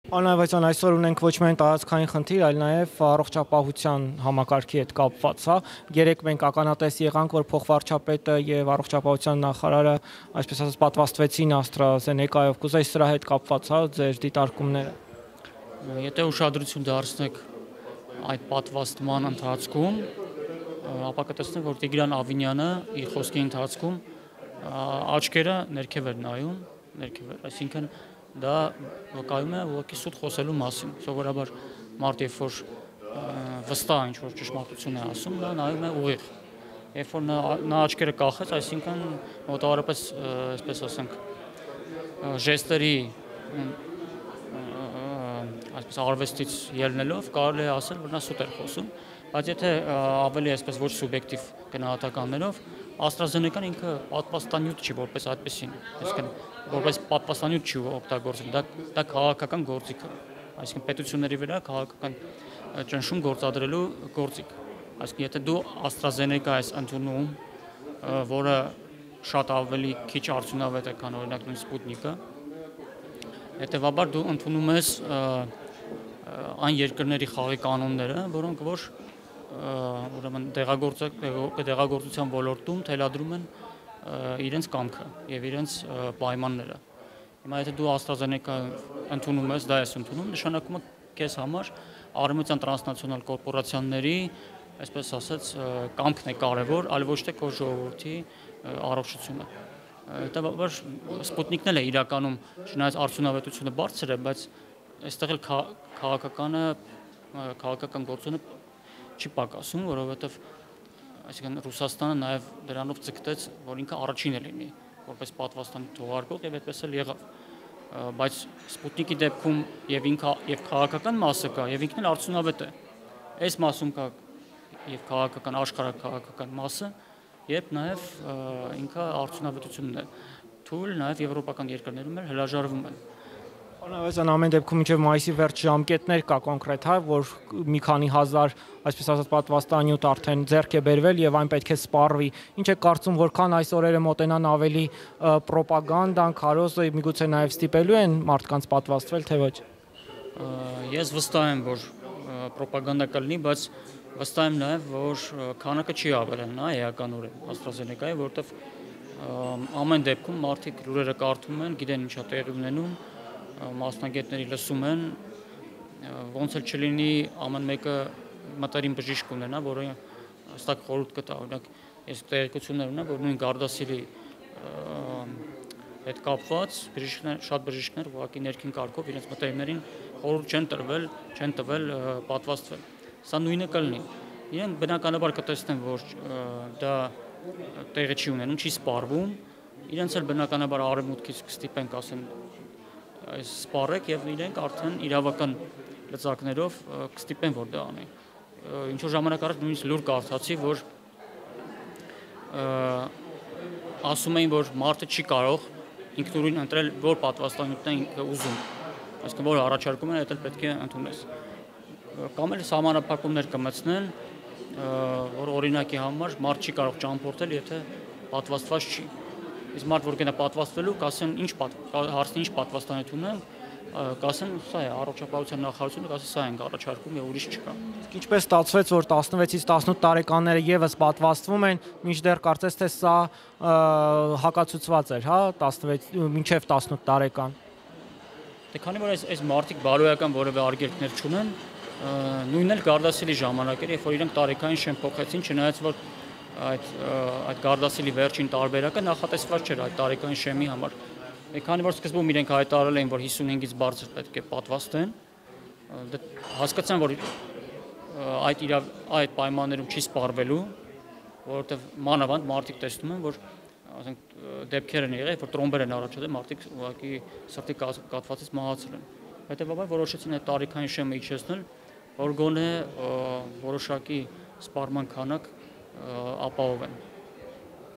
Անհավասան այսօր ունենք ոչ միայն տարածքային խնդիր, այլ նաև առողջապահության համակարգի հետ կապված, հա։ Երեք մենք ականատես եղանք, որ փոխվարչապետը եւ առողջապահության նախարարը, այսպես ասած, պատվաստվեցին AstraZeneca-ով, կուզեի սրա հետ կապված, հա, ձեր դիտարկումները։ Եթե ուշադրություն դարձնեք այդ պատվաստման ընթացքում, ապա կտեսնեք, որ Տիգրան Ավինյանը իր խոսքի ընթացքում աչքերը ներքև էր նայում, այսինքն դա վկայում է ուղղակի սուտ խոսելու մասին։ Սովորաբար մարդ երբ որ վստահ ինչ-որ ճշմարտություն է ասում, նա նայում է ուղիղ։ Երբ որ նա աչքերը կախեց, այսինքն մոտավորապես, այսպես ասենք, ժեստերի այսպես արվեստից ելնելով կարելի է ասել, որ նա սուտ էր խոսում, բայց եթե ավելի այսպես ոչ սուբյեկտիվ գնահատականներով AstraZeneca-ն ինքը պատվաստանյութ չի որպես այդպեսին, այսինքն որպես պատվաստանյութ չի օգտագործում, դա քաղաքական գործիք է, այսինքն պետությունների վրա քաղաքական ճնշում գործադրելու գործիք։ Այսինքն եթե դու AstraZeneca ես ընդունում, որը շատ ավելի քիչ արդյունավետ է, քան օրինակ նույն Sputnik-ը, հետևաբար դու ընդունում ես այն երկրների խաղի կանոնները, որոնք որ ուրեմն դեղագործության ոլորտում թելադրում են իրենց կամքը եւ իրենց պայմանները։ Հիմա եթե դու AstraZeneca ընդունում ես, դա ես ընդունում, նշանակում է քեզ համար արևմտյան տրանսնացիոնալ կորպորացիաների, այսպես ասած, կամքն է կարևոր, այլ ոչ թե քո ժողովրդի առողջությունը։ Հետևաբար Sputnik-ն էլ է իրականում, չնայած արդյունավետությունը բարձր է, բայց այստեղ էլ քաղաքական գործոնը չի պակասում, որովհետև այսինքն Ռուսաստանը նաև դրանով ցկտեց, որ ինքը առաջինը լինի, որպես պատվաստանյութ թողարկող եւ այդպես էլ եղավ։ Բայց Sputnik-ի դեպքում եւ ինքը եւ քաղաքական մասը կա, եւ ինքն էլ արդյունավետ է։ Այս մասում կա եւ քաղաքական աշխարհակաղակական մասը, եւ նաեւ ինքը արդյունավետությունն է։ Թույլ նաեւ եվրոպական երկրներում էլ հրաժարվում են։ Անհավասան ամեն դեպքում մինչև մայիսի վերջ ժամկետներ կա կոնկրետ, հա, որ մի քանի հազար, այսպես ասած, պատվաստանյութ արդեն ձեռք է բերվել եւ այն պետք է սպառվի։ Ինչ է կարծում, որքան այս օրերը մոտենան ավելի ռոպագանդան, քարոզը, միգուցե նաեւ ստիպելու են մարդկանց պատվաստվել, թե ոչ։ Ես վստահ եմ, որ ռոպագանդա կլինի, բայց վստահ եմ նաեւ, որ քանակը չի ավելանա էականորեն AstraZeneca-ի, որովհետեւ ամեն դեպքում մարդիկ լուրերը կարդում են, գիտեն ինչա տեղի ունենում, մասնագետների լսում են, ոնց էլ չլինի ամեն մեկը մտերիմ բժիշկ ունենա, որը հստակ խորհուրդ կտա, օրինակ ես տեղեկություններ ունեմ, որ նույն Gardasil-ի հետ կապված շատ բժիշկներ ուղղակի ներքին կարգով իրենց մտերիմներին խորհուրդ չեն տվել պատվաստվել։ Սա նույնը կլինի։ Իրենք բնականաբար կտեսնեն, որ դա տեղի չի ունենում, չի սպառվում, իրենց էլ բնականաբար արևմուտքից կստիպենք, ասեն, այս սպառեք եւ իրենք արդեն իրավական լծակներով կստիպեն, որ դա անի։ Ինչ որ ժամանակ առաջ նույնիսկ լուր կարդացի, որ ասում էին, որ մարդը չի կարող ինքնուրույն ընտրել, որ պատվաստանյութն է ինքը ուզում, այսինքն որ առաջարկում են, դա պետք է ընդունես։ Կամ էլ սահմանափակումներ կմտցնեն, որ օրինակի համար մարդ չի կարող ճամփորդել, եթե պատվաստված չի։ Իսկ մարդ որ գնա պատվաստվելու, կասեն հարցնի ինչ պատվաստանյութ ունեն, կասեն սա է, առողջապահության նախարարությունը կասի սա ենք առաջարկում եւ ուրիշ չկա։ Իսկ ինչպես ստացվեց, որ 16-ից 18 տարեկանները եւս պատվաստվում են, մինչդեռ կարծես թե սա հակացուցված էր, հա, 16 մինչեւ 18 տարեկան։ Դե քանի որ այս մարդիկ բարոյական որևէ արգելքներ չունեն, նույնն էլ Gardasil-ի ժամանակ էր, երբ որ իրենք տարեքային շեմ փոխեցին, չնայած որ այդ Gardasil-ի վերջին տարբերակը նախատեսված չէր այդ տարեկային շեմի համար։ Քանի որ սկզբում իրենք հայտարարել էին, որ 55-ից բարձր պետք է պատվաստեն, հասկացան, որ այդ պայմաններում չի սպառվելու, որովհետև մանավանդ մարդիկ տեսնում են, որ ասենք դեպքեր են եղել, որ տրոմբեր են առաջացել, մարդիկ ուղղակի սրտի կաթվածից մահացել են։ Հետևաբար որոշեցին այդ տարեկային շեմը իջեցնել, որ գոնե որոշակի սպառման քանակ ապահովեն։